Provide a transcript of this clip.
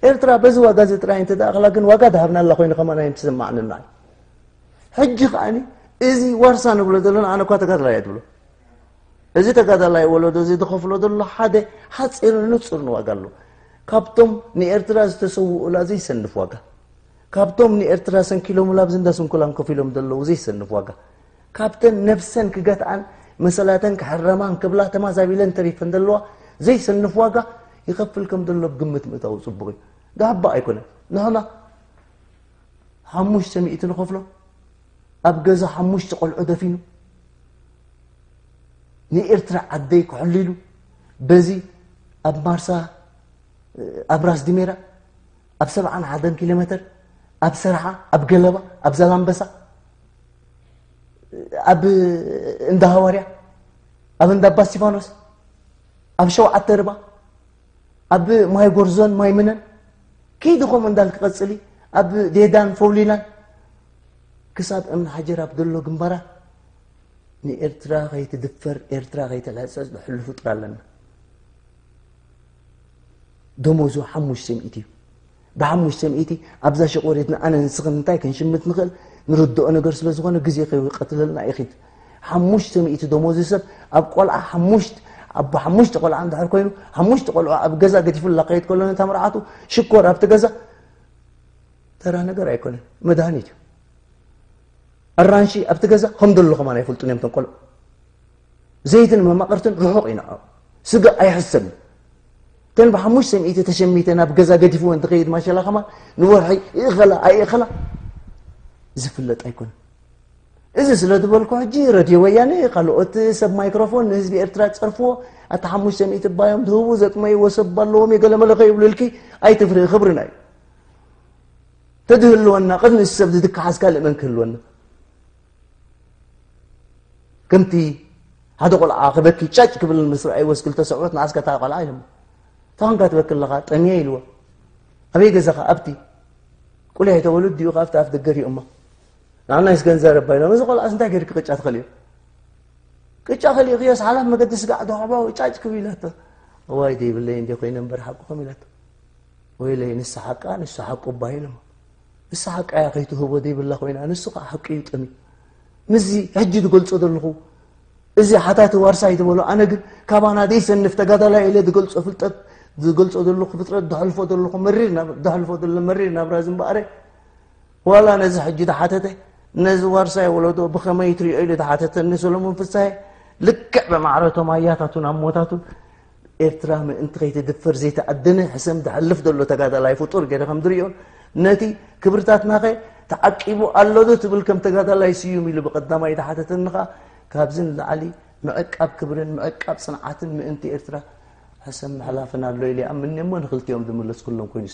ኤርትራ በዚ ዋጋ እዚ ጥራይ እንተ ደኣ ኣኽላ ግን ዋጋ ድሃብናላ ኮይኑ ከማን ኣይምትስማዕንና እዩ። ሕጂ ከኣኒ እዚ ዋርሳ ንብሎ ዘለና ኣነ እኳ ተጋድላይ እየ ትብሎ። እዚ ተጋዳላይ ወለዶ እዚ ዝኸፍሎ ዘሎ ሓደ ሓፂርን ንፁርን ዋጋ ኣሎ። ካብቶም ንኤርትራ ዝተሰውኡላ ዘይሰንፍ ዋጋ፣ ካብቶም ንኤርትራ ሰንኪሎምላ ኣብዚ እንዳ ስንኩላን ኮፍ ኢሎም ዘለዉ ዘይሰንፍ ዋጋ፣ ካብተን ነብሰን ክገትኣን መሰላተን ክሕረማን ክብላ ተማዛቢለን ተሪፈን ዘለዋ ዘይሰንፍ ዋጋ ይኸፍል ከም ዘሎ ብግምት ምእታው ጽቡቕ እዩ። ዳባ ኣይኮነን። ንሕና ሓሙሽተ ሚእቲ ንኸፍሎ ኣብ ገዛ ሓሙሽተ ቆልዑ ደፊኑ ንኤርትራ ዓደይ ክሕሉ ኢሉ በዚ ኣብ ማርሳ ኣብ ራስ ዲሜራ ኣብ ሰብዓን ሓደን ኪሎ ሜትር ኣብ ሰርሓ ኣብ ገለባ ኣብ ዛላምበሳ ኣብ እንዳ ሃዋርያ ኣብ እንዳ ኣባ እስቲፋኖስ ኣብ ሸውዓተ ርባ ኣብ ማይ ጎርዞን ማይ ምነን ከይዲ ከምኡ እንዳል ክቐጽል እዩ። ኣብ ዴዳን ፈውሊናን ክሳብ እምኒ ሓጀር ኣብ ዘሎ ግንባራት ንኤርትራ ከይትድፈር ኤርትራ ከይትልሕጸጽ ዝሕሉ ፍጡር ኣለና። ደሞዙ ሓሙሽተ ሚእቲ እዩ። ብሓሙሽተ ሚእቲ ኣብዛ ሸቆሪትና ኣነ ንስኽን እንታይ ክንሽምት ንኽእል ንርድኦ ነገር ስለ ዝኾነ ግዜ ከይቀትለልና ይኺድ። ሓሙሽተ ሚእቲ ደሞዙ ሰብ ኣብ ቆልዓ ሓሙሽተ ኣብ ሓሙሽተ ቆልዓ እንድሕር ኮይኑ ሓሙሽተ ቆልዓ ኣብ ገዛ ገዲፉላ ከይድ ከሎ ነታ መርዓቱ ሽኮር ኣብቲ ገዛ ተራ ነገር ኣይኮነን፣ መድሃኒት እዩ። ኣራንሺ ኣብቲ ገዛ ከም ዘሎ ከማን ኣይፈልጡን እዮም እቶም ቆልዑ። ዘይትን መማቕርትን ርሑቕ እዩ ንዕኦም። ስጋ ኣይሕሰብን። እተን ብሓሙሽተ ሚእቲ ተሸሚተ ናብ ገዛ ገዲፍዎ እንትኸይድ ማሸላ ከማን ንወርሒ ይእኸላ ኣይእኸላ ዝፍለጥ ኣይኮነን። እዚ ስለ ዝበልኩ ሕጂ ረድዮ ወያነ ካልኦት ሰብ ማይክሮፎን ንህዝቢ ኤርትራ ጸርፍዎ ኣቲ ሓሙሽተ ሚእቲ ባዮም ዝህቡ ዘጥመይዎ ሰብ ኣለዎም የገለመለ ከይብሉልኪ ኣይትፍርሂ ክብርና እዩ። ተድህልወና ቅድሚ ሰብ ዝትከሓዝ ካልእ መን ክህልወና? ከምቲ ሓደ ቆልዓ ክበኪ ጫጭ ክብል ምስ ረኣይዎስ ክልተ ሰብዑት ንዓስከ እታ ቆልዓ ኢሎሞ። እንታይ ኾንካ ትበኪ ኣለኻ? ጠምየ ኢልዎ። ኣበይ ገዛኻ? ኣብቲ። ቁልሕ ተወልድ ድዩ ካብቲ ኣፍ ደገ ሪኦሞ። ንዓናይስ ገንዘብ ረባ ኢሎም። እዚ ቆልዓስ እንታይ ገይርኪ ቅጫ ትኸልዮ? ቅጫ ከሊእኽዮስ ሓላፍ መገዲ ስጋዕ ዶ ሓባው ጫጭ ክብ ኢላቶ። እዋይ ደይብለይ እንዴ ኮይነ እምበር ሓቅኹም ኢላቶ። ወይለይ ንሳ ሓቃ ንሱ ሓቁ እባ ኢሎም። ንሳ ሓቃ እያ ከይትህቦ ዘይብላ ኮይና ንሱ ከዓ ሓቂ እዩ ጠምዩ። ምስዚ ሕጂ ዝገልጾ ዘለኹ እዚ ሓታቲ ዋርሳይ ዝበሎ ኣነ ግን ካባና ዘይሰንፍ ተጋዳላይ ኢለ ዝገልጾ ፍልጠት ዝገልጾ ዘለኹ ፍጥረት ዘሕልፎ ዘለኹ መሪር ናብ ዘሕልፎ ዘሎ መሪር ናብራ ዝምበኣረ ዋላ ነዚ ሕጂ ዝሓተተ ነዚ ዋርሳይ ወለዶ ብኸመይ ትሪኦ ኢሉ ዝሓተተኒ ሰሎሞን ፍስሃየ ልክዕ ብማዕረቶም ኣያታቱን ኣሞታቱን ኤርትራ ምእንቲ ከይትድፈር ዘይተኣደነ ሕሰም ዝሓልፍ ዘሎ ተጋዳላይ ፍጡር ገይረ ከም ዝሪኦን ነቲ ክብርታትናኸ ተዓቂቡ ኣሎ ዶ ትብል ከም ተጋዳላይ ስዩም ኢሉ ብቐዳማይ ዝሓተተኒ ኸኣ ካብዚ ንላዕሊ ምዕቃብ ክብርን ምዕቃብ ጽንዓትን ምእንቲ ኤርትራ ሕሰም ምሕላፍን ኣሎ ኢለ ይኣምን እሞ ንክልቲኦም ዝመለስኩሎም ኮይኑ